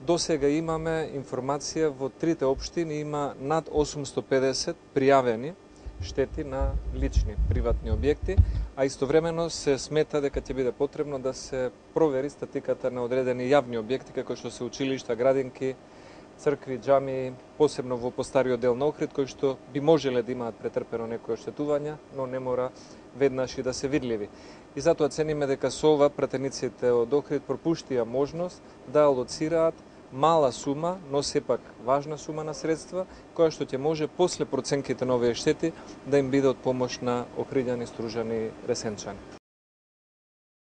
До сега имаме информација во трите општини има над 850 пријавени штети на лични, приватни објекти, а истовремено се смета дека ќе биде потребно да се провери статиката на одредени јавни објекти, како што се училишта, градинки, цркви, џамии, посебно во постариот дел на Охрид, кои што би можеле да имаат претрпено некои оштетувања, но не мора веднаш и да се видливи. И затоа цениме дека со ова пратениците од Охрид пропуштија можност да алоцираат мала сума, но сепак важна сума на средства, која што ќе може после проценките на овие штети да им биде од помош на охриѓани, стружани, ресенчани.